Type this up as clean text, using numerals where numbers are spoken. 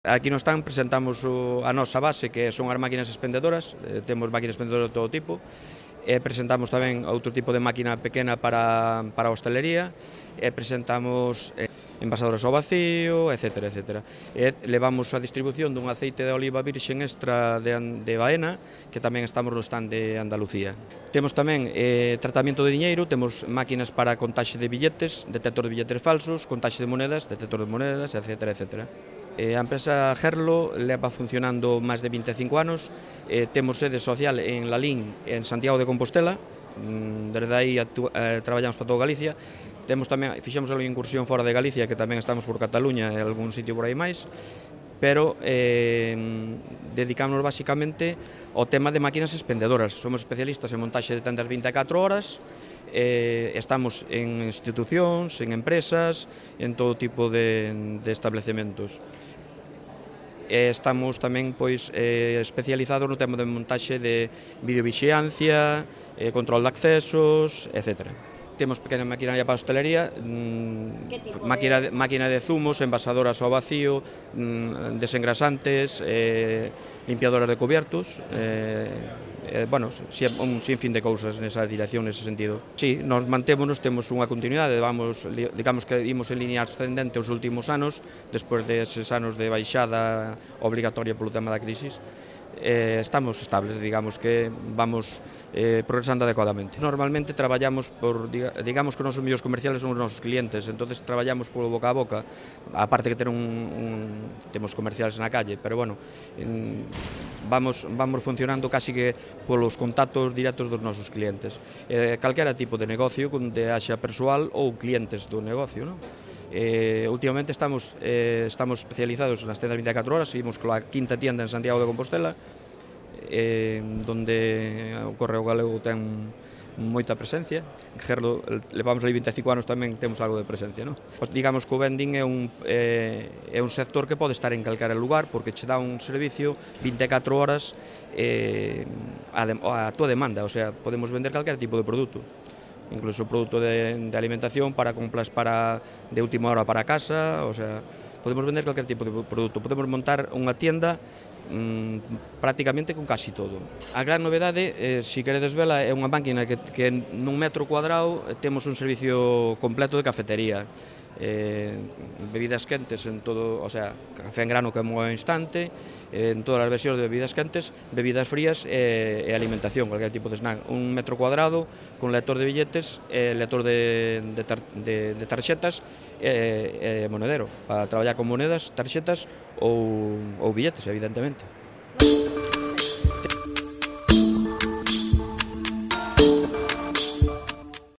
Aquí no stand presentamos a nosa base, que son as máquinas expendedoras, temos máquinas expendedoras de todo tipo, presentamos tamén outro tipo de máquina pequena para a hostelería, presentamos envasadoras ao vacío, etc. etc. Levamos a distribución dun aceite de oliva virxen extra de Baena, que tamén estamos no stand de Andalucía. Temos tamén tratamento de diñeiro, temos máquinas para contaxe de billetes, detector de billetes falsos, contaxe de monedas, detector de monedas, etc. etc. A empresa Gerlo leva funcionando máis de 25 anos, temos sede social en Lalín, en Santiago de Compostela, desde aí traballamos para toda Galicia, fixemos algo incursión fora de Galicia, que tamén estamos por Cataluña e algún sitio por aí máis, pero dedicámonos basicamente ao tema de máquinas expendedoras. Somos especialistas en montaxe de tendas 24 horas, estamos en institucións, en empresas, en todo tipo de establecementos. Estamos tamén especializados no tema de montaxe de videovixiancia, control de accesos, etc. Temos pequena maquinaria para a hostelería, máquina de zumos, envasadoras ao vacío, desengrasantes, limpiadoras de cubiertos, un sinfín de cousas nesa dirección, nese sentido. Si, nos mantémonos, temos unha continuidade, digamos que imos en línea ascendente os últimos anos, despois deses anos de baixada obligatoria polo tema da crisis. Estamos estables, digamos que vamos progresando adecuadamente. Normalmente traballamos digamos que os nosos mellores comerciales son os nosos clientes, entonces traballamos polo boca a boca, aparte que temos comerciales na calle, pero bueno, vamos funcionando casi que polos contactos directos dos nosos clientes. Calquera tipo de negocio, onde haxa persoal ou clientes do negocio, non? Últimamente estamos especializados nas tendas 24 horas, seguimos coa quinta tienda en Santiago de Compostela, donde o Correo Galego ten moita presencia. En Gerlo levamos ali 25 anos, tamén temos algo de presencia, non? Digamos que o vending é un sector que pode estar en calquera lugar, porque che dá un servicio 24 horas a tua demanda, o sea, podemos vender calquera tipo de produto, incluso produto de alimentación para compras de última hora para casa, o sea, podemos vender calquer tipo de produto, podemos montar unha tienda prácticamente con casi todo. A gran novedade, se queredes vela, é unha máquina que nun metro cuadrado temos un servicio completo de cafetería, bebidas quentes en todo, o sea, café en grano que é moi instante, en todas as versións de bebidas quentes, bebidas frías e alimentación, cualquier tipo de snack. Un metro cuadrado con lector de billetes, lector de tarxetas e monedero, para traballar con monedas, tarxetas ou billetes, evidentemente.